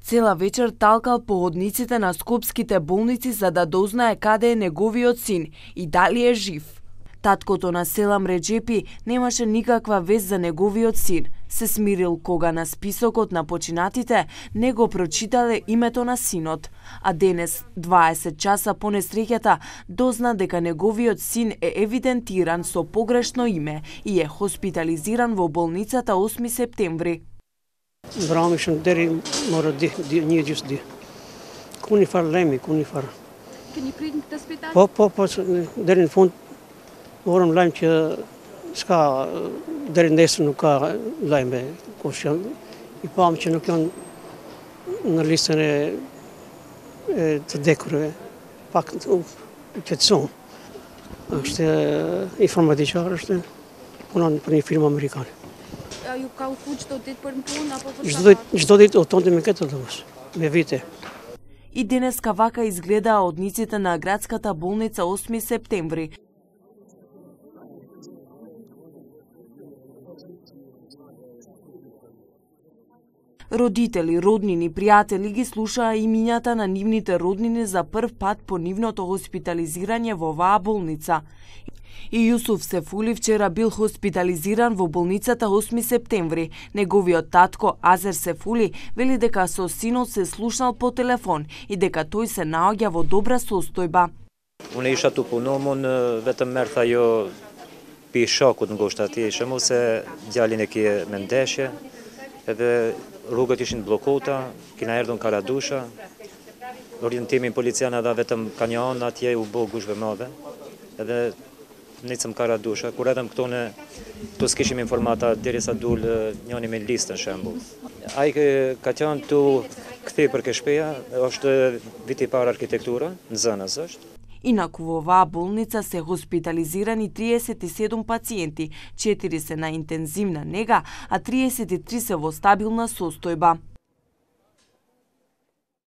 Цела вечер талкал по hodниците на скопските болници за да дознае каде е неговиот син и дали е жив. Таткото на Селам Реджепи немаше никаква вест за неговиот син. Се смирил кога на списокот на починатите не го прочитале името на синот, а денес, 20 часа по несреќата, дозна дека неговиот син е евидентиран со погрешно име и е хоспитализиран во болницата 8 септември. Vramishëm deri morë një gjysmë. Ku një farë lajmi, ku një farë. Keni prit në këtë spital? Po, deri në fund morëm lajm që s'ka, deri nesër nuk ka lajme, kush janë, i pam që nuk janë në listën e të dekurve, pak u qetësuam. Është informatiqar, është punon për një firmë amerikane. Ju ka uthu çdo ditë për në punë apo për çdo ditë udhtonte me këtë autobus, me vite. И денеска вака изгледаа одниците на градската болница 8 септември. Родители, роднини, пријатели ги слушаа имињата на нивните роднини за прв пат по нивното хоспитализирање во оваа болница. И Јусуф Сефули вчера бил хоспитализиран во болницата 8 септември. Неговиот татко Азер Сефули вели дека со синот се слушнал по телефон и дека тој се наоѓа во добра состојба. Unë isha tu punu, unë vetëm merrtha jo pi shokut ngoshta atje isha, se djalin e kje me ndeshje, edhe rrugët ishin bllokuara, kina erdhur Karadusha, orientimin polician dha vetëm kamion atje u bë gushve madhe, edhe nicëm Karadusha, kur edhem këtu s'kishim informata derisa dul njëri me listën shembull. Ai ka qenë tu kthej për Keshpeja, është viti i parë arkitektura, në Zënës është. Инаку во оваа болница се хоспитализирани 37 пациенти, 4 се на интензивна нега, а 33 се во стабилна состојба.